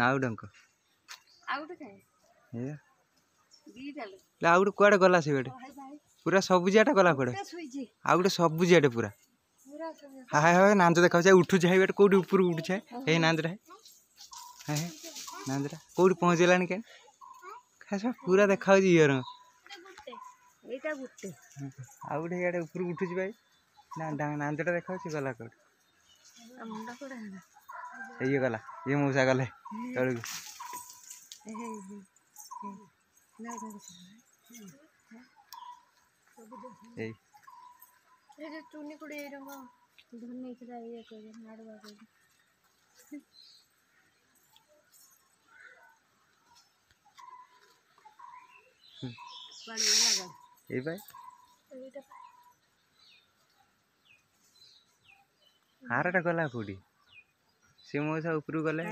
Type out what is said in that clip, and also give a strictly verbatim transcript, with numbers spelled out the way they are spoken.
ନାଉ ଡଙ୍କ। ଆଉ ଗୋଟେ କୁଆଡ଼େ ଗଲା? ସେ ଗୋଟେ ପୁରା ସବୁଜିଆଟା ଗଲା କୁଆଡ଼େ? ଆଉ ଗୋଟେ ସବୁଜିଆଟେ ପୁରା। ହାଏ ହାଏ, ନାଞ୍ଜ ଦେଖାଉଛି, ଉଠୁଛି। ହାଇ, ଗୋଟେ କୋଉଠି ଉପରକୁ ଉଠୁଛି। ହେଇ ନାଞ୍ଜଟା, ହେ ନାଞ୍ଜଟା କୋଉଠି ପହଞ୍ଚିଗଲାଣି? କେଁ ପୁରା ଦେଖାଉଛି ଇଏ ରଙ୍ଗ। ଏଇଟା ଗୋଟେ, ଆଉ ଗୋଟେ ଇଆଡ଼େ ଉପରକୁ ଉଠୁଛି ଭାଇ। ନା, ନାଞ୍ଜଟା ଦେଖାଉଛି, ଗଲା କୋଉଠି? ଇଏ ଗଲା, ଇଏ ମଉସା ଗଲେ ତଳକୁ। ଏଇ ଚୁନି କୁଡ଼ି ଏଇ ରଙ୍ଗ ଧରି ଇଏ କହିବେ ନାଡ଼ୁଆ କହିବେ। ଏଇ ଭାଇ, ଆରଟା ଗଲା କୋଉଠି? ସେ ମଉସା ଉପରକୁ ଗଲେ।